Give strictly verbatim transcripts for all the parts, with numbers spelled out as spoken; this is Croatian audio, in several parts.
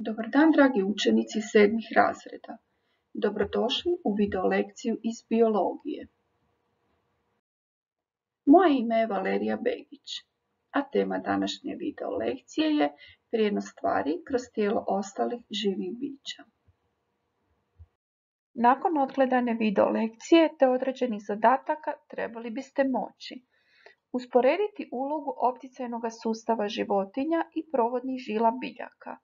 Dobar dan, dragi učenici sedmih razreda. Dobrodošli u video lekciju iz biologije. Moje ime je Valerija Begić, a tema današnje video lekcije je prijenos tvari kroz tijelo ostalih živih bića. Nakon odgledane video lekcije te određenih zadataka trebali biste moći usporediti ulogu opticajnog sustava životinja i provodnih žila biljaka,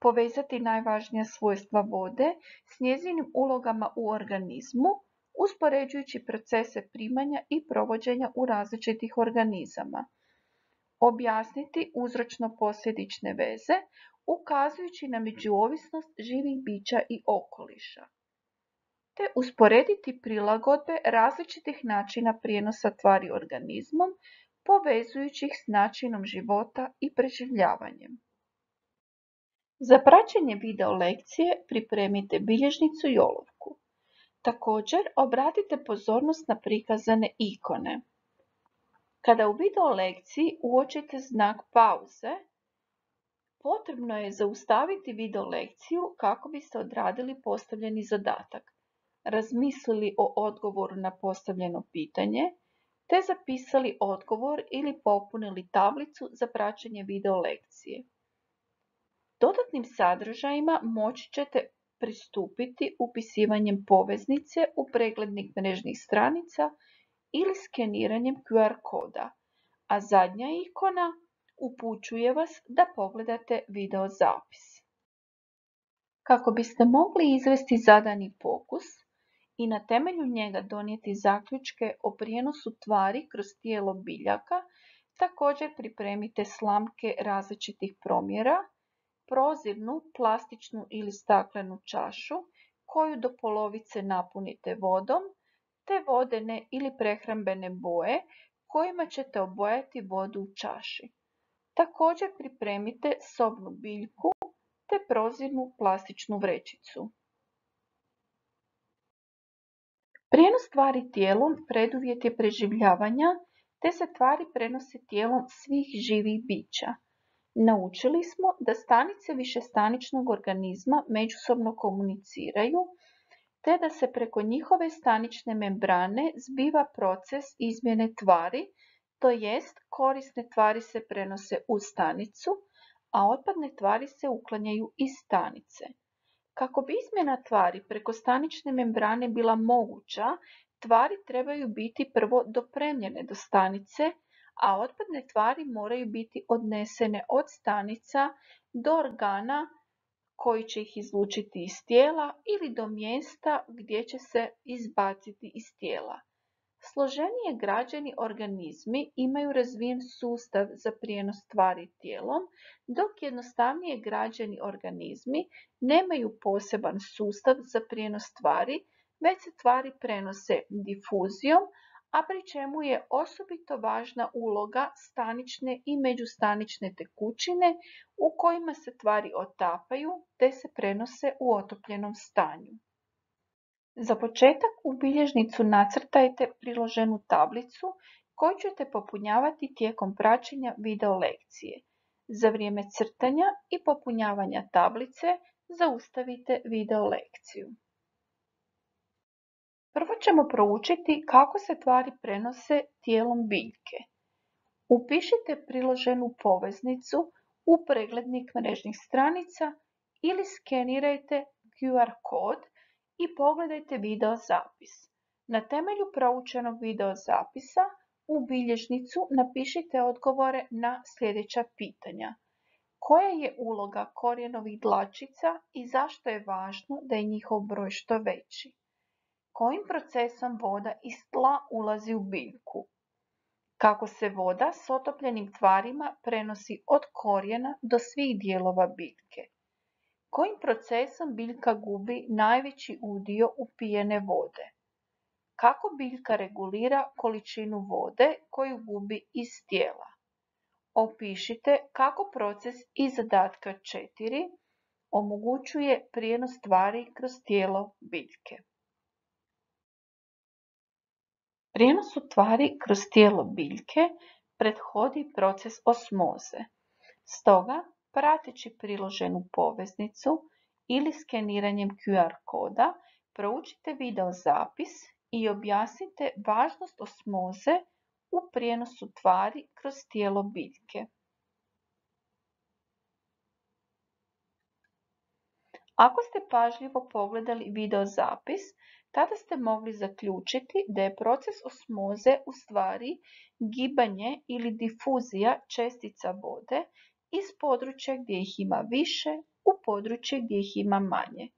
povezati najvažnija svojstva vode s njezinim ulogama u organizmu, uspoređujući procese primanja i provođenja u različitih organizama, objasniti uzročno-posljedične veze, ukazujući na međuovisnost živih bića i okoliša, te usporediti prilagodbe različitih načina prijenosa tvari organizmom, povezujući ih s načinom života i preživljavanjem. Za praćenje video lekcije pripremite bilježnicu i olovku. Također obratite pozornost na prikazane ikone. Kada u video lekciji uočite znak pauze, potrebno je zaustaviti video lekciju kako biste odradili postavljeni zadatak, razmislili o odgovoru na postavljeno pitanje, te zapisali odgovor ili popunili tablicu za praćenje video lekcije. Dodatnim sadržajima moći ćete pristupiti upisivanjem poveznice u preglednik mrežnih stranica ili skeniranjem Q R koda, a zadnja ikona upućuje vas da pogledate video zapis. Kako biste mogli izvesti zadani pokus i na temelju njega donijeti zaključke o prijenosu tvari kroz tijelo biljaka, također pripremite slamke različitih promjera, prozirnu, plastičnu ili staklenu čašu koju do polovice napunite vodom, te vodene ili prehrambene boje kojima ćete obojati vodu u čaši. Također pripremite sobnu biljku te prozirnu plastičnu vrećicu. Prijenos tvari tijelom preduvjet je preživljavanja, te se tvari prenose tijelom svih živih bića. Naučili smo da stanice višestaničnog organizma međusobno komuniciraju, te da se preko njihove stanične membrane zbiva proces izmjene tvari, to jest korisne tvari se prenose u stanicu, a otpadne tvari se uklanjaju iz stanice. Kako bi izmjena tvari preko stanične membrane bila moguća, tvari trebaju biti prvo dopremljene do stanice, a otpadne tvari moraju biti odnesene od stanica do organa koji će ih izlučiti iz tijela ili do mjesta gdje će se izbaciti iz tijela. Složenije građeni organizmi imaju razvijen sustav za prijenos tvari tijelom, dok jednostavnije građeni organizmi nemaju poseban sustav za prijenos tvari, već se tvari prenose difuzijom, a pri čemu je osobito važna uloga stanične i međustanične tekućine u kojima se tvari otapaju te se prenose u otopljenom stanju. Za početak u bilježnicu nacrtajte priloženu tablicu koju ćete popunjavati tijekom praćenja video lekcije. Za vrijeme crtanja i popunjavanja tablice zaustavite video lekciju. Prvo ćemo proučiti kako se tvari prenose tijelom biljke. Upišite priloženu poveznicu u preglednik mrežnih stranica ili skenirajte Q R kod i pogledajte video zapis. Na temelju proučenog video zapisa u bilježnicu napišite odgovore na sljedeća pitanja. Koja je uloga korijenovih dlačica i zašto je važno da je njihov broj što veći? Kojim procesom voda iz tla ulazi u biljku? Kako se voda s otopljenim tvarima prenosi od korijena do svih dijelova biljke? Kojim procesom biljka gubi najveći udio upijene vode? Kako biljka regulira količinu vode koju gubi iz tijela? Opišite kako proces iz zadatka četiri omogućuje prijenos tvari kroz tijelo biljke. Prijenosu tvari kroz tijelo biljke prethodi proces osmoze. Stoga, prateći priloženu poveznicu ili skeniranjem Q R koda proučite video zapis i objasnite važnost osmoze u prijenosu tvari kroz tijelo biljke. Ako ste pažljivo pogledali video zapis, tada ste mogli zaključiti da je proces osmoze u stvari gibanje ili difuzija čestica vode iz područja gdje ih ima više u područje gdje ih ima manje.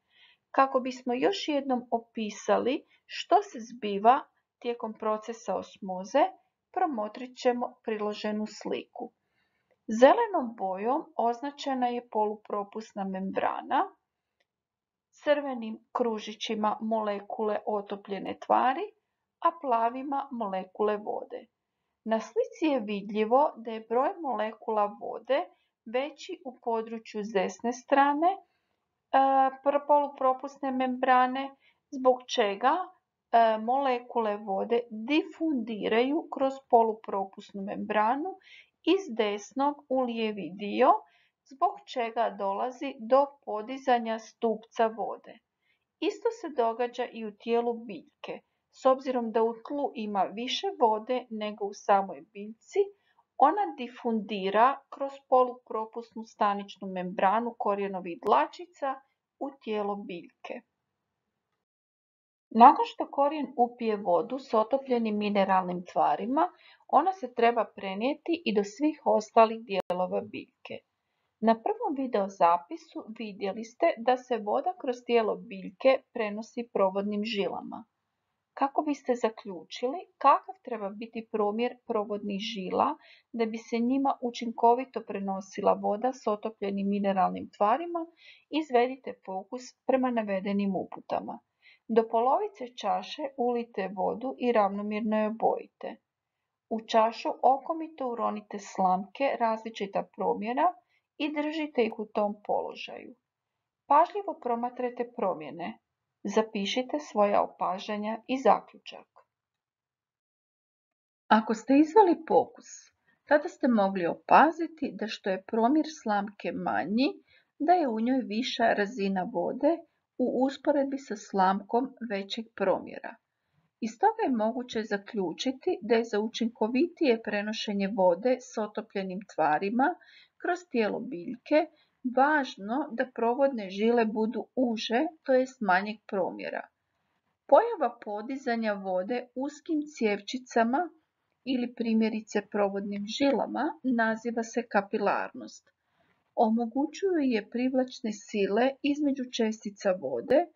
Kako bismo još jednom opisali što se zbiva tijekom procesa osmoze, promotrit ćemo priloženu sliku. Zelenom bojom označena je polupropusna membrana, crvenim kružićima molekule otopljene tvari, a plavima molekule vode. Na slici je vidljivo da je broj molekula vode veći u području s desne strane e, polupropusne membrane, zbog čega e, molekule vode difundiraju kroz polupropusnu membranu iz desnog u lijevi dio, zbog čega dolazi do podizanja stupca vode. Isto se događa i u tijelu biljke. S obzirom da u tlu ima više vode nego u samoj biljci, ona difundira kroz polupropusnu staničnu membranu korijenovih dlačica u tijelo biljke. Nakon što korijen upije vodu s otopljenim mineralnim tvarima, ona se treba prenijeti i do svih ostalih dijelova biljke. Na prvom video zapisu vidjeli ste da se voda kroz tijelo biljke prenosi provodnim žilama. Kako biste zaključili kakav treba biti promjer provodnih žila da bi se njima učinkovito prenosila voda s otopljenim mineralnim tvarima, izvedite fokus prema navedenim uputama. Do polovice čaše ulijte vodu i ravnomjerno je obojite. U čašu okomito uronite slamke različita promjera i držite ih u tom položaju. Pažljivo promatrajte promjene. Zapišite svoja opažanja i zaključak. Ako ste izveli pokus, tada ste mogli opaziti da što je promjer slamke manji, da je u njoj viša razina vode u usporedbi sa slamkom većeg promjera. Iz toga je moguće zaključiti da je za učinkovitije prenošenje vode s otopljenim tvarima kroz tijelo biljke važno da provodne žile budu uže, to jest manjeg promjera. Pojava podizanja vode uskim cjevčicama ili primjerice provodnim žilama naziva se kapilarnost. Omogućuju je privlačne sile između čestica vode,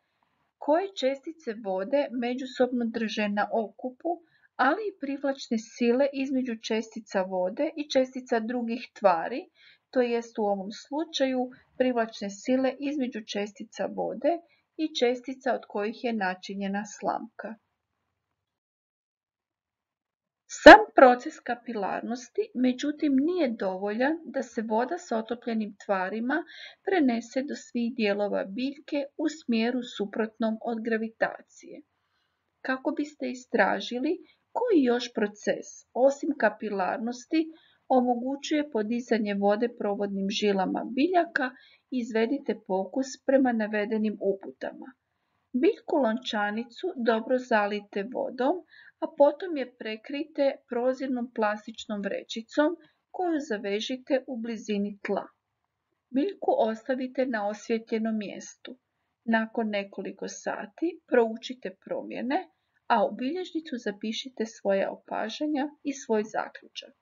koje čestice vode međusobno drže na okupu, ali i privlačne sile između čestica vode i čestica drugih tvari, to jest u ovom slučaju privlačne sile između čestica vode i čestica od kojih je načinjena slamka. Sam proces kapilarnosti, međutim, nije dovoljan da se voda s otopljenim tvarima prenese do svih dijelova biljke u smjeru suprotnom od gravitacije. Kako biste istražili koji još proces, osim kapilarnosti, omogućuje podizanje vode provodnim žilama biljaka, izvedite pokus prema navedenim uputama. Biljku lončanicu dobro zalijte vodom, a potom je prekrijte prozirnom plastičnom vrećicom koju zavežite u blizini tla. Biljku ostavite na osvijetljenom mjestu. Nakon nekoliko sati proučite promjene, a u bilježnicu zapišite svoja opažanja i svoj zaključak.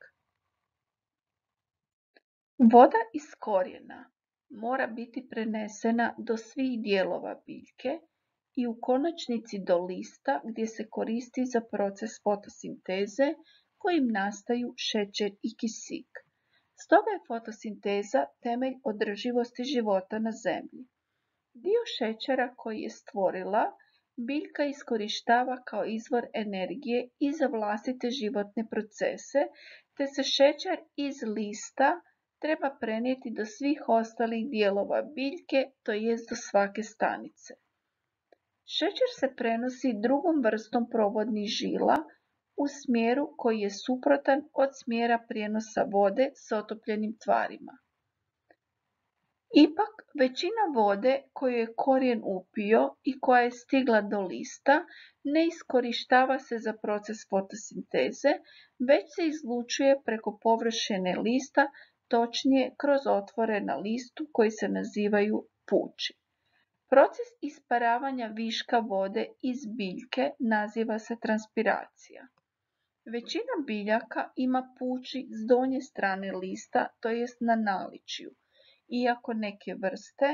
Voda iz korijena mora biti prenesena do svih dijelova biljke i u konačnici do lista gdje se koristi za proces fotosinteze kojim nastaju šećer i kisik. Stoga je fotosinteza temelj održivosti života na zemlji. Dio šećera koji je stvorila biljka iskorištava kao izvor energije i za vlastite životne procese, te se šećer iz lista treba prenijeti do svih ostalih dijelova biljke, to jest do svake stanice. Šećer se prenosi drugom vrstom provodnih žila u smjeru koji je suprotan od smjera prijenosa vode s otopljenim tvarima. Ipak, većina vode koju je korijen upio i koja je stigla do lista ne iskorištava se za proces fotosinteze, već se izlučuje preko površine lista, točnije kroz otvore na listu koji se nazivaju puči. Proces isparavanja viška vode iz biljke naziva se transpiracija. Većina biljaka ima puči s donje strane lista, to jest na naličju, iako neke vrste,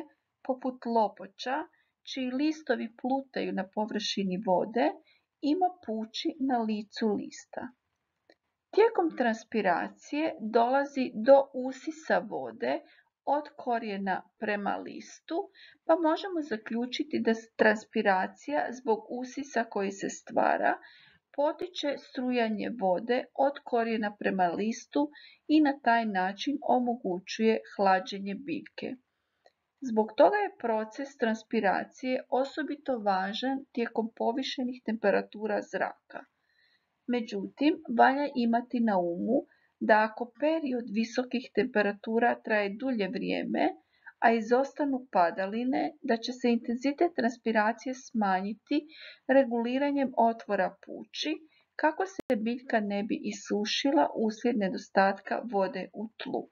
poput lopoča, čiji listovi plutaju na površini vode, ima puči na licu lista. Tijekom transpiracije dolazi do usisa vode od korijena prema listu, pa možemo zaključiti da transpiracija zbog usisa koji se stvara potiče strujanje vode od korijena prema listu i na taj način omogućuje hlađenje biljke. Zbog toga je proces transpiracije osobito važan tijekom povišenih temperatura zraka. Međutim, valja imati na umu da ako period visokih temperatura traje dulje vrijeme, a izostanu padaline, da će se intenzitet transpiracije smanjiti reguliranjem otvora puči, kako se biljka ne bi isušila uslijed nedostatka vode u tlu.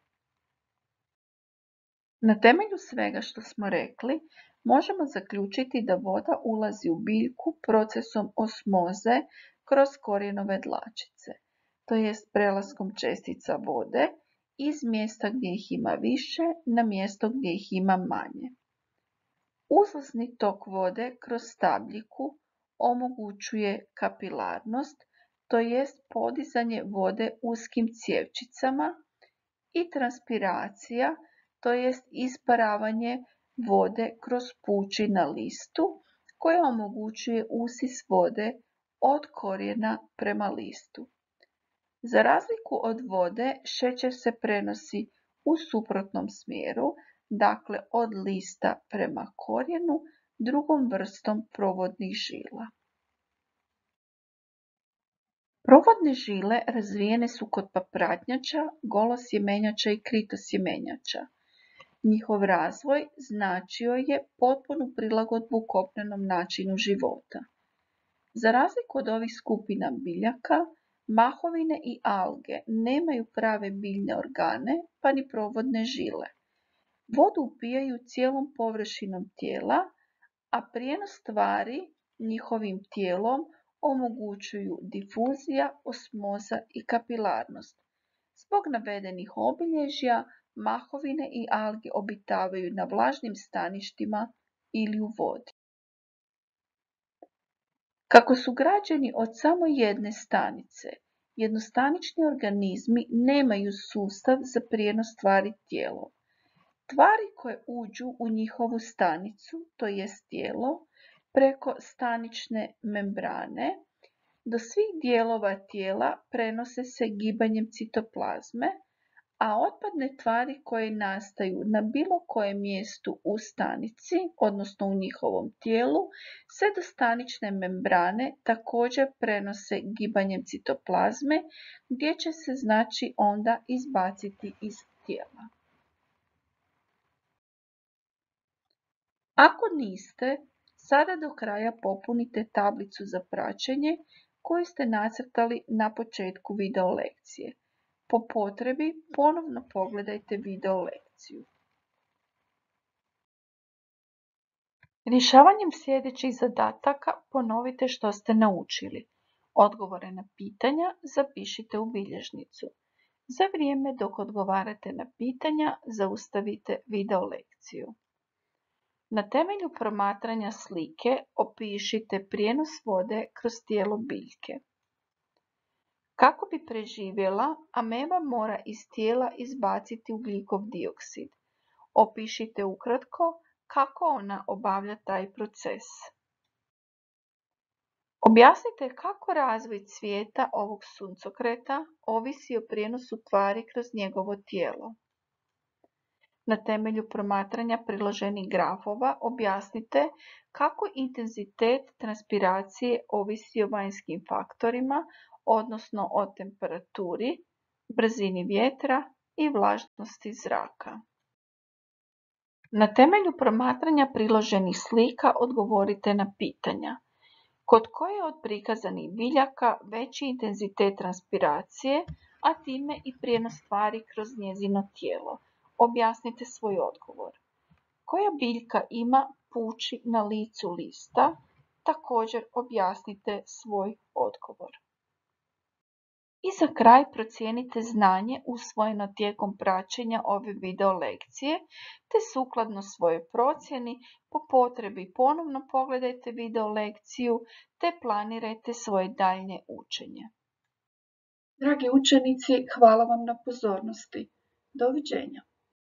Na temelju svega što smo rekli, možemo zaključiti da voda ulazi u biljku procesom osmoze kroz korijenove dlačice, to jest prelaskom čestica vode iz mjesta gdje ih ima više na mjesto gdje ih ima manje. Uzlazni tok vode kroz stabljiku omogućuje kapilarnost, to jest podizanje vode uskim cjevčicama, i transpiracija, to jest isparavanje vode kroz puči na listu, koja omogućuje usis vode od korijena prema listu. Za razliku od vode, šećer se prenosi u suprotnom smjeru, dakle od lista prema korijenu, drugom vrstom provodnih žila. Provodne žile razvijene su kod papratnjača, golosjemenjača i kritosjemenjača. Njihov razvoj značio je potpunu prilagodbu kopnenom načinu života. Za razliku od ovih skupina biljaka, mahovine i alge nemaju prave biljne organe, pa ni provodne žile. Vodu upijaju cijelom površinom tijela, a prijenos tvari njihovim tijelom omogućuju difuzija, osmoza i kapilarnost. Zbog navedenih obilježja, mahovine i alge obitavaju na vlažnim staništima ili u vodi. Kako su građeni od samo jedne stanice, jednostanični organizmi nemaju sustav za prijenos tvari tijelom. Tvari koje uđu u njihovu stanicu, to jest tijelo, preko stanične membrane, do svih dijelova tijela prenose se gibanjem citoplazme, a otpadne tvari koje nastaju na bilo kojem mjestu u stanici, odnosno u njihovom tijelu, se do stanične membrane također prenose gibanjem citoplazme, gdje će se znači onda izbaciti iz tijela. Ako niste, sada do kraja popunite tablicu za praćenje koju ste nacrtali na početku video lekcije. Po potrebi ponovno pogledajte video lekciju. Rješavanjem sljedećih zadataka ponovite što ste naučili. Odgovore na pitanja zapišite u bilježnicu. Za vrijeme dok odgovarate na pitanja, zaustavite video lekciju. Na temelju promatranja slike opišite prijenos vode kroz tijelo biljke. Kako bi preživjela, ameba mora iz tijela izbaciti ugljikov dioksid. Opišite ukratko kako ona obavlja taj proces. Objasnite kako razvoj cvijeta ovog suncokreta ovisi o prijenosu tvari kroz njegovo tijelo. Na temelju promatranja priloženih grafova objasnite kako intenzitet transpiracije ovisi o vanjskim faktorima, odnosno o temperaturi, brzini vjetra i vlažnosti zraka. Na temelju promatranja priloženih slika odgovorite na pitanja. Kod koje od prikazanih biljaka veći intenzitet transpiracije, a time i prijenos tvari kroz njezino tijelo? Objasnite svoj odgovor. Koja biljka ima puči na licu lista? Također objasnite svoj odgovor. I za kraj procijenite znanje usvojeno tijekom praćenja ove video lekcije, te sukladno svojoj procjeni po potrebi ponovno pogledajte video lekciju te planirajte svoje daljnje učenje. Dragi učenici, hvala vam na pozornosti. Doviđenja.